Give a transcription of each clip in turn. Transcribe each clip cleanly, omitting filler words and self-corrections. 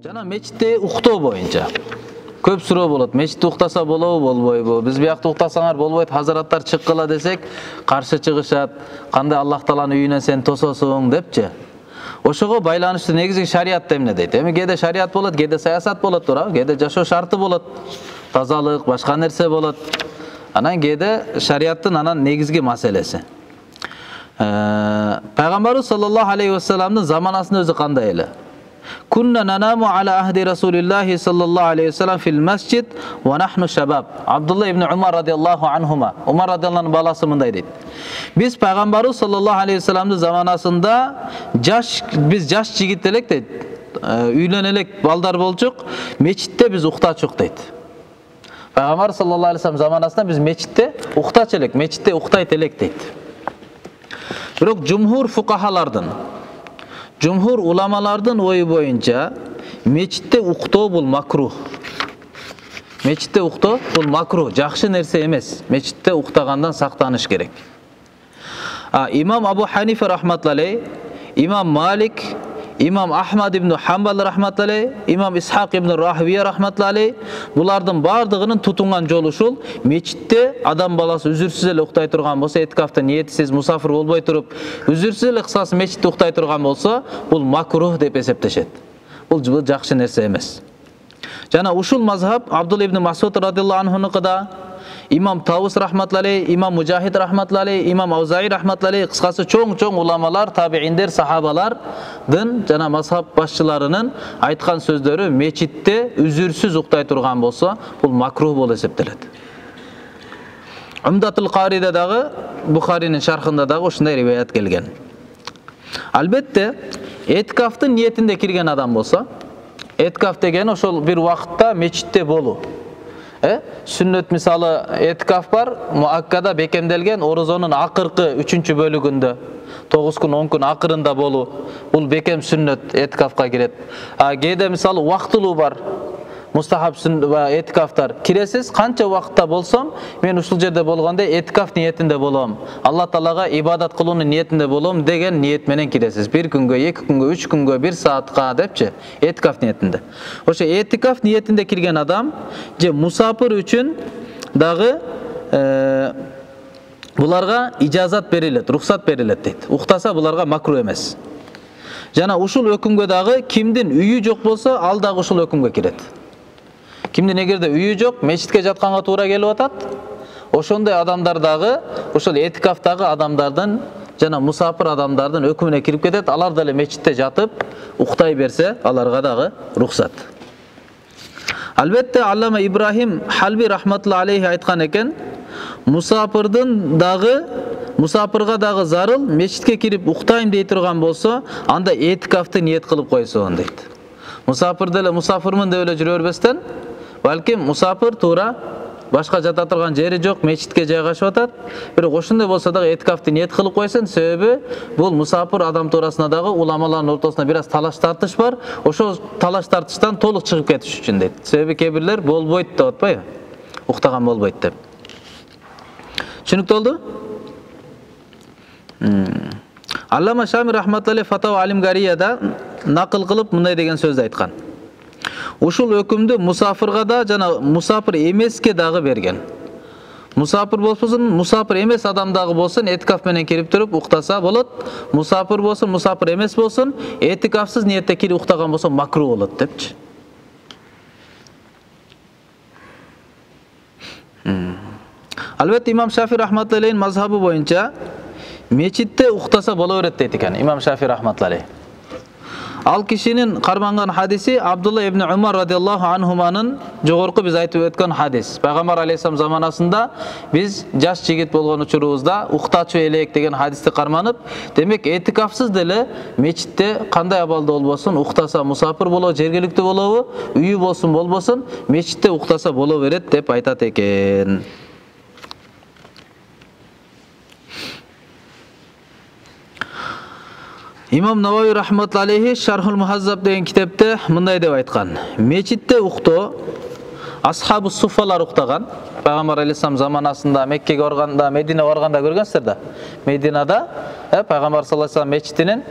Жана мечитте уктоо боюнча көп суроо болот. Мечитте уктаса болобу, болбойбу? Биз биякта уктасаңар болбойт, хазыраттар чыккыла десек, каршы чыгышат. Кандай Аллах Тааланын үйүнөн сен тососуң депчи. Ошого байланыштуу негизги шариат эмне дейт? Эми кээде шариат болот, кээде саясат болот, туурабы? Кээде жашоо шарты болот. Тазалык, башка нерсе болот. Анан кээде шариаттын анан негизги маселеси. Пайгамбарыбыз саллаллаху алейхи вассаламдын заманасында өзү кандай эле? Kunna nanamu ala ahdi Rasulillahi sallallahu aleyhi ve sellem fil masjid ve nahnu şabab. Abdullah ibn Umar radıyallahu anhuma. Umar radıyallahu anh'ın balası mınday deydi. Biz Peygamberimiz sallallahu aleyhi ve sellem'in zamanasında biz jaş jigittelek deydi. Үйленелек балдар болчук, мечитте биз уктачук дейт. Пайгамбар саллаллаху алейхи вассалам заманасында биз мечитте уктачу элек, мечитте уктайт элек дейт. Бирок жумхур фукахалардын, жумхур уламалардын ою боюнча мечитте уктоо бул макрух. Мечитте уктоо бул макрух, жакшы нерсе эмес. Мечитте уктагандан сактаныш керек. Имам Абу Ханифа рахматуллахи, Имам Малик, Имам Ахмад ибн Хамбал рахматуллахи, Имам Исхак ибн Рахвия рахматуллахи булардын бардыгынын тутунган жолу ушул: мечитте адам баласы үзүрсүз эле уктай турган болсо, этикафта ниетсиз мусафир болбой туруп, үзүрсүз эле кысасы мечитте уктай турган болсо, бул макрух деп эсептешет. Бул жакшы нерсе эмес. Жана ушул мазхаб Абдулла ибн Масуд радиллаху анхунукуда, Имам Таус рахматуллахи, Имам Мужахид рахматуллахи, Имам Аузаи рахматуллахи, кыскасы чоң уламалар, табииндер, сахабалардын жана мазхаб башчыларынын айткан сөздөрү: мечитте үзүрсүз уктай турган болсо, бул макрух болуп эсептелет. Умдатул Кариде дагы, Бухаринин шархында дагы ушундай риваят келген. Албетте, этикафтын ниетинде кирген адам болсо, этикаф деген ошол бир убакытта мечитте болуу. Сүннөт мисалы этикаф бар, муаккада бекемделген орозонун акыркы 3-чү бөлүгүндө 9 күн 10 күн акырында болуу. Бул бекем сүннөт этикафка кирет. Кээде мисалы убактылуу бар. Мустахаб этикафтар. Киресиз, канча убакытта болсом, мен ушул жерде болгондо этикаф ниетинде болом. Алла Таалага ибадат кылуунун ниетинде болом деген ниет менен киресиз. 1 күнгө, 2 күнгө, 3 күнгө, 1 саатка депчи, этикаф ниетинде. Ошо этикаф ниетинде кирген адам же мусафир үчүн дагы буларга ижазат берилет, рухсат берилет дейт. Уктаса буларга макрух эмес. Жана ушул өкүмгө дагы кимдин үйү жок болсо, ал дагы ушул өкүмгө кирет. Кимдин эгерде үйү жок, мечитке жатканга туура келип атат, ошондой адамдар дагы ошол этикафтагы адамдардын жана мусафир адамдардын өкүмүнө кирип кетет. Алар деле мечитте жатып уктай берсе, аларга дагы рухсат. Албетте Аллама Ибрахим Халби рахматуллахи алейхи айткан экен: мусафирга дагы зарыл мечитке кирип уктайм дей турган болсо, анда этикафты ниет кылып койсун дейт. Мусафир деле мусафирмын деп эле жүрө бербестен, балким мусафир туура башка жата турган жери жок, мечитке жайгашып атат. Бирок ошондой болсо дагы этикафты ниет кылып койсун, себеби бул мусафир адам туурасында дагы уламалардын ортосунда бир аз талаш тартыш бар. Ошол талаш тартыштан толук чыгып кетиш үчүн дейт. Себеби кээ бирлер болбойт деп атпайбы? Уктаган болбойт деп. Түшүнүктүү болду? Аллама Шами рахматуллахи Фатава Алимгарияда накыл кылып мындай деген сөздү айткан: ушул өкүмдү мусафирга да жана мусафир эмеске дагы берген. Мусафир болсун, мусафир эмес адам дагы болсун, этикаф менен кирип туруп уктаса болот. Мусафир болсун, мусафир эмес болсун, этикафсыз ниетте кирип уктаган болсо макрух болот депчи. Албетте Имам Шафи рахматуллахи мазхабы боюнча мечитте уктаса боло берет дейт экен Имам Шафи рахматуллахи. Ал кишинин карманган хадиси Абдулла ибн Умар радиллаху анхуманын жогорку биз айтып өткөн хадис. Пайгамбар алейхиссалам заманасында биз жаш жигит болгон учурубузда уктачу элек деген хадисти карманып, демек этикафсыз деле мечитте кандай абалда болбосун уктаса мусафир болобу, жергиликтүү болобу, үйү болсун болбосун, мечитте уктаса боло берет деп айтат экен. Имам Навави рахматуллахи алейхи Шархул Мухаззаб деген китепте мындай деп айткан: мечитте уктоо асхабу суфалар уктаган. Пайгамбар алейхиссалам заманасында Меккеге барганда, Мединеге барганда көргөнсүздөр да. Мединада Пайгамбар саллаллаху алейхи вассалам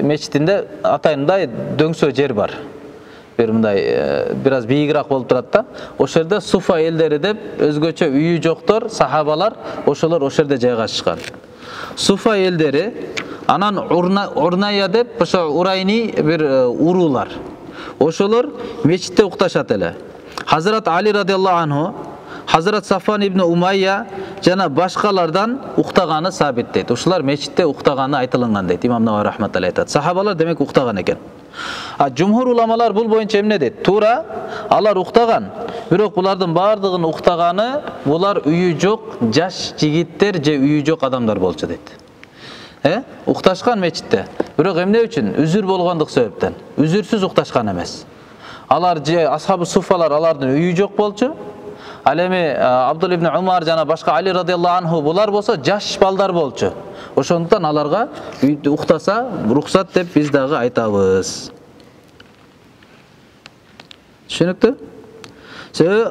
мечитинде атайындай дөңсө жер бар. бир мындай бир аз бийигирээк болуп турат да. Ошол жерде суфа элдери деп өзгөчө үйү жоктор, сахабалар ошолор ошол жерде жайгашышкан. Суфа элдери анан урная деп ошо урайни бир уруулар. Ошолор мечитте укташат эле. Хазрат Али радиаллаху анху, Хазрат Сафан ибн Умайя жана башкалардан уктаганы сабит дейт. Ошолар мечитте уктаганы айтылган дейт. Имам Навави рахматуллахи айтат. Сахабалар демек уктаган экен. Жумхур уламалар бул боюнча эмне дейт? Туура, алар уктаган. Бирок булардын бардыгын уктаганы булар үйү жок жаш жигиттер же үйү жок адамдар болчу дейт. Укташкан мечитте. Бирок эмне үчүн? Үзүр болгондук себептен. Үзүрсүз укташкан эмес. Алар же асхабы суфалар алардын үйү жок болчу. Ал эми Абдулла ибн Умар жана башка Али радиаллаху анху булар болсо жаш балдар болчу. Ошондуктан аларга үйдө уктаса рухсат деп биз дагы айтабыз. Түшүнүктүү?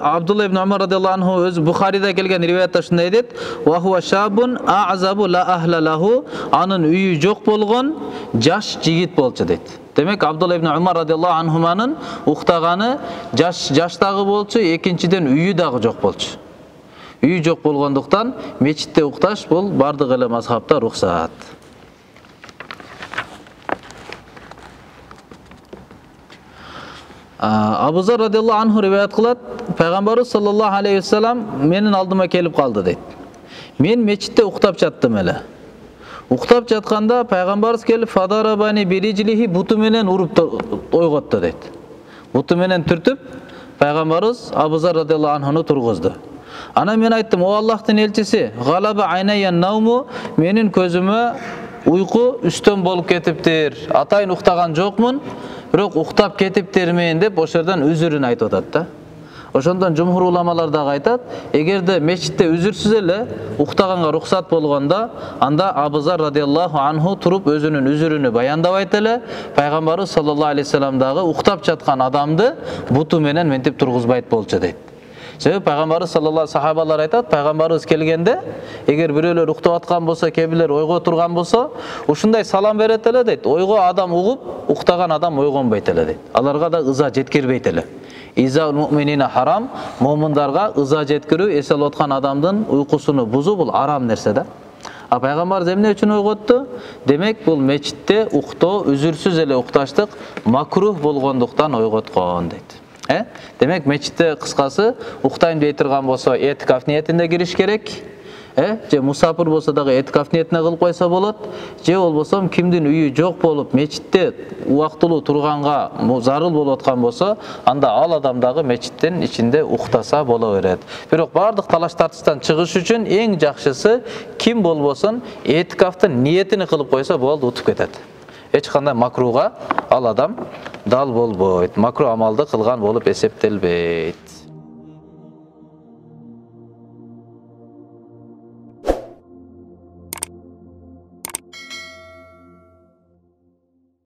Абдулла ибн Умар радиаллаху анху өз Бухарида келген риваятта ушундай дейт: "Ва хуа шабун а'забу ла ахла лаху", анын үйү жок болгон жаш жигит болчу дейт. Демек Абдулла ибн Умар радиаллаху анхуманын уктаганы жаштагы болчу, экинчиден үйү дагы жок болчу. Үйү жок болгондуктан мечитте укташ бул бардык эле мазхабта рухсат. Абу Зар радиаллаху анху риваят кылат, пайгамбарыбыз саллаллаху алейхи ва саллям менин алдыма келип калды дейт. Мен мечитте уктап жаттым эле. Уктап жатканда пайгамбарыбыз келип фадарабани бирижилихи, буту менен уруп ойготту дейт. Буту менен түртүп пайгамбарыбыз Абу Зар радиаллаху анхуну тургузду. Анан мен айттым: "О Аллахтын элчиси, галаба айнайя науму", менин көзүмө уйку үстөн болуп кетиптир. Атайын уктаган жокмун, бирок уктап кетиптермин деп ошол жерден үзүрүн айтып атат да. Ошондон жумхур уламалар дагы айтат, эгерде мечитте үзүрсүз эле уктаганга рухсат болгондо, анда Абу Зар радиаллаху анху туруп өзүнүн үзүрүнү баяндабайт эле, пайгамбарыбыз саллаллаху алейхи ва саллям дагы уктап жаткан адамды буту менен ментип тургузбайт болчу дейт. Себеби пайгамбарыбыз саллаллаху сахабалар айтат, пайгамбарыбыз келгенде эгер бирөөлөр уктап аткан болсо, кээ-бирлер ойго турган болсо, ушундай салам берет эле дейт. Ойго адам угуп, уктаган адам ойгонбойт эле дейт. Аларга да ыза жеткирбейт эле. Изаул муъминина харам, момундарга ыза жеткирүү, эс алып аткан адамдын уйкусуну бузуу бул арам нерсе да. Пайгамбарыбыз эмне үчүн ойготту? Демек бул мечитте уктоо, үзүрсүз эле укташтык макрух болгондуктан ойготкон дейт. Демек мечитте кыскасы уктайм дей турган болсо этикаф ниетинде кириш керек. Же мусафир болсо дагы этикаф ниетине кылып койсо болот. Же болбосо кимдин үйү жок болуп мечитте убактылуу турганга зарыл болуп аткан болсо, анда ал адам дагы мечиттин ичинде уктаса боло берет. Бирок бардык талаш тартыштан чыгыш үчүн эң жакшысы ким болбосун этикафтын ниетини кылып койсо болду, утуп кетет. Эч кандай макруга ал адам дал болбойт. Макрух амалды кылган болуп эсептелбейт.